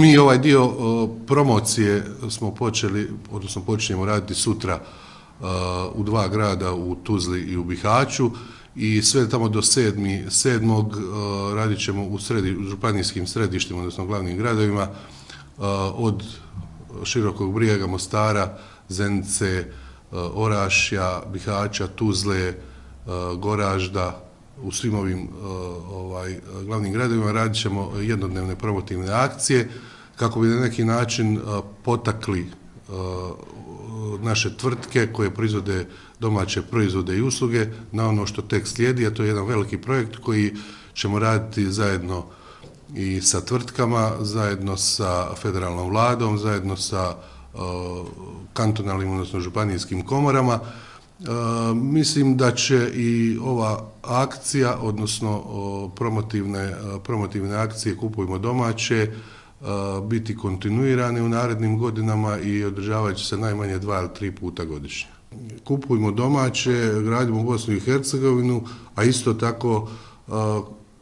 Mi ovaj dio promocije smo počeli, odnosno počinjemo raditi sutra u 2 grada, u Tuzli i u Bihaću, i sve tamo do 7. radit ćemo u županijskim središtima, odnosno glavnim gradovima, od Širokog Brijega, Mostara, Zenice, Orašja, Bihaća, Tuzle, Goražda. U svim ovim glavnim gradovima radit ćemo jednodnevne promotivne akcije kako bi na neki način potakli naše tvrtke koje proizvode domaće proizvode i usluge na ono što tek slijedi, a to je jedan veliki projekt koji ćemo raditi zajedno i sa tvrtkama, zajedno sa federalnom vladom, zajedno sa kantonalnim, odnosno županijskim komorama. Mislim da će i ova akcija, odnosno promotivne akcije Kupujmo domaće, biti kontinuirane u narednim godinama i održavat će se najmanje 2 ili 3 puta godišnje. Kupujmo domaće, gradimo Bosnu i Hercegovinu, a isto tako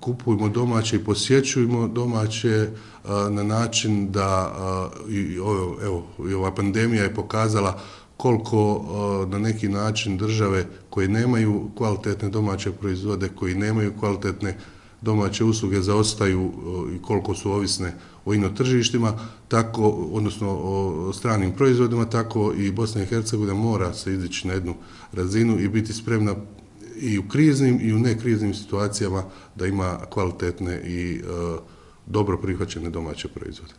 kupujmo domaće i posjećujmo domaće na način da i ova pandemija je pokazala koliko na neki način države koje nemaju kvalitetne domaće proizvode, koji nemaju kvalitetne domaće usluge zaostaju i koliko su ovisne o ino tržištima, tako, odnosno o stranim proizvodima, tako i Bosna i Hercegovina mora se izići na jednu razinu i biti spremna i u kriznim i u nekriznim situacijama da ima kvalitetne i dobro prihvaćene domaće proizvode.